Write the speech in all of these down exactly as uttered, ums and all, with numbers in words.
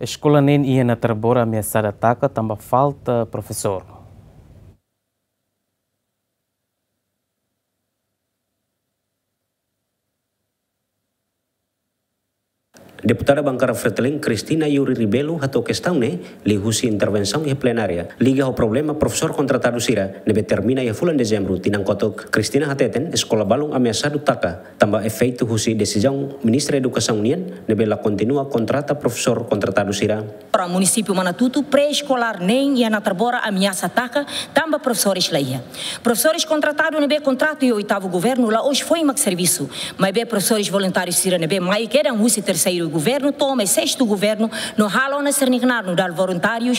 Eskola neen iha Natarbora ameasada taka tanba falta profesór. Deputada Bankada Fretilin, Cristina Yuri Rebelo, hato'o kestaun ne'e liuhusi intervensaun iha plenária liga ho problema profesór kontratadu sira ne'ebé termina iha fulan Dezembru tinan kotuk. Cristina hateten, eskola balun ameasadu taka tanba efeitu husi desizaun Ministra Edukasaun nian ne'ebé la kontinua kontrata profesór kontratadu sira. Para munisípiu Manatutu, pré-eskolár neen iha Natarbora ameasa taka tanba profesores la iha. Profesores kontratadu ne'ebé kontratu iha oitavu governu la'ós foin mak servisu. Maibé profesores voluntárius sira ne'ebé mai kedan husi terseiru governu to'o mai sestu governu no halo ona sira-nia knaar nu'udar voluntárius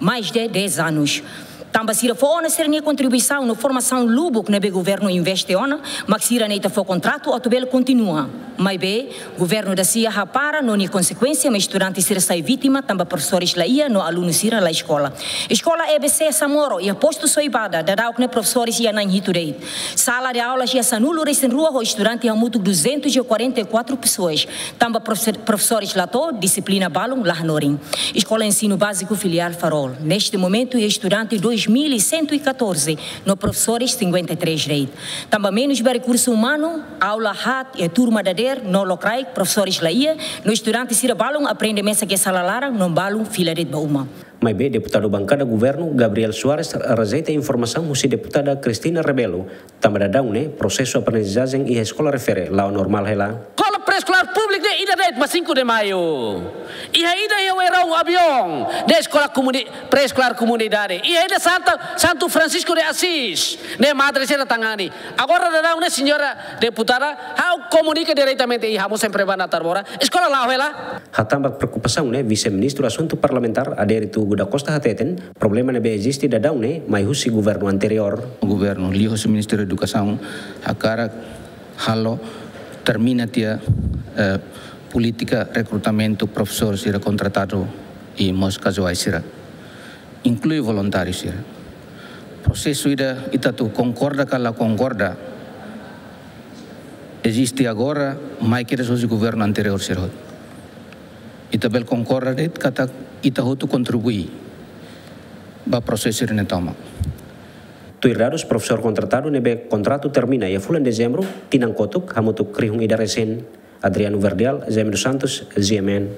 mais de dez anos. Tanba sira fó ona sira-nia kontribuisaun no formasaun lubuk ne'ebé governu investe ona, mak sira ne'e ita fó kontratu atu bele kontinua. Maibé, governu da-sia hapara no nia konsekuénsia mak estudante sira sai vítima tanba profesores la iha no alunu sira la eskola. Eskola E B C Samoro iha postu Soibada, daudauk ne'e profesores iha na'in hitu de'it. Sala de aulas iha sanulu-resin-rua ho estudante hamutuk duzentos e quarenta e quatro pessoas. Tanba profe-, profesores la to'o, dixiplina balun la hanorin. Eskola Ensinu Báziku Filiál Farol, neste momentu iha estudante dois mil e cento e catorze, no profesores cinquenta e três de'it. Tanba menus ba rekursu umanu, aula haat iha turma dadeer no lokraik, profesores la iha, no estudante sira balun aprende mesak iha sala laran no balun fila de'it ba uma. Maibé deputadu bankada governu, Gabriel Soares, rejeita informasaun husi deputada Cristina Rebelo, tanba daudaun ne'e prosesu aprendizajen iha eskola refere la'o normál hela. Eskola pré-eskolár públiku ne'e ida de'it mak Cinco de Maio. Iha ida iha Oerol Aviaun, ne'e eskola komuni-, pré-eskolár komunidade. Iha ida Santa, Santo Francisco de Assis, ne'e madre sira tangani. Agora daudaun ne'e, señora deputada, ha'u komunika diretamente iha ha'u-nia sempre ba Natarbora. Eskola la'o hela. Hatán ba preokupasaun ne'e, Vise-Ministru Asuntu Parlamentár, Adérito da Costa hateten, problema ne'ebé eziste daudaun ne'e mai husi governu anteriór. Governu liuhusi Ministériu Edukasaun hakarak halo, termina tiha, eh, polítika rekrutamentu profesór sira kontratadu i mós kazuál sira, inklui voluntáriu sira. Prosesu ida ita atu konkorda ka la konkorda, eziste agora, mai kedas husi governu anteriór sira hotu. Ita bele konkorda de'it katak ita hotu kontribui ba prosesu ne'e tomak. Tuir dadus, profesór kontratadu ne'ebé kontratu termina iha fulan Dezembru tinan kotuk hamutuk rihun ida resin. Adriano Verdial, Jaime dos Santos, G M N.